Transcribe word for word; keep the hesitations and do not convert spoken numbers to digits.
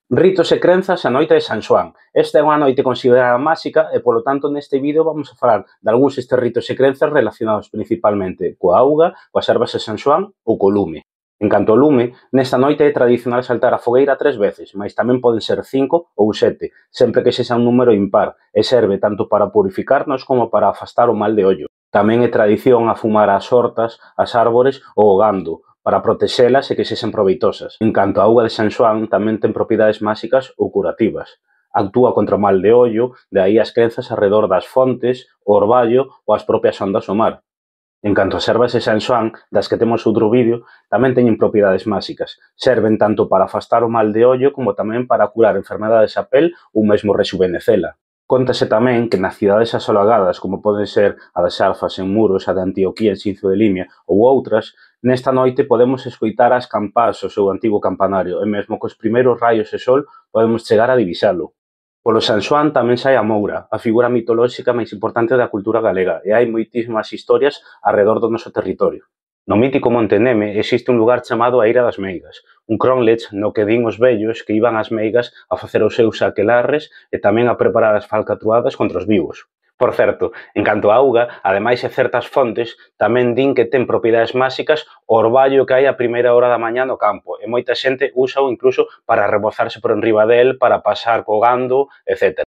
Ritos e crenzas a noite de San Xoán. Esta é unha noite considerada máxica e, polo tanto, neste vídeo vamos a falar de algúns destes ritos e crenzas relacionados principalmente coa auga, coas ervas de San Xoán ou co lume. En canto ao lume, nesta noite é tradicional saltar a fogueira tres veces, mais tamén poden ser cinco ou sete, sempre que sexa un número impar, e serve tanto para purificarnos como para afastar o mal de ollo. Tamén é tradición afumar as hortas, as árbores ou o gando, para protexelas e que sexan proveitosas. En canto a auga de San Xoán, tamén ten propiedades máxicas ou curativas. Actúa contra o mal de ollo, de aí as crenzas arredor das fontes, o orballo ou as propias ondas do mar. En canto ás ervas de San Xoán, das que temos outro vídeo, tamén teñen propiedades máxicas. Serven tanto para afastar o mal de ollo como tamén para curar enfermedades a pel ou mesmo rexuvenecela. Cóntase tamén que nas cidades asolagadas, como poden ser a de Xalfas en Muros, a de Antioquía en Xinzo de Limia ou outras, nesta noite podemos escoitar as campás o seu antigo campanario e mesmo cos primeiros raios de sol podemos chegar a divisalo. Polo San Xoán tamén sae a Moura, a figura mitolóxica máis importante da cultura galega, e hai moitísimas historias arredor do noso territorio. No mítico Monte Neme existe un lugar chamado a Eira das Meigas, un crónlech no que din os vellos que iban ás meigas a facer os seus aquelarres e tamén a preparar as falcatruadas contra os vivos. Por certo, en canto á auga, ademais de certas fontes, tamén din que ten propiedades máxicas o orballo que hai a primeira hora da mañá no campo, e moita xente úsao incluso para rebozarse por enriba del, para pasar co gando, etcétera.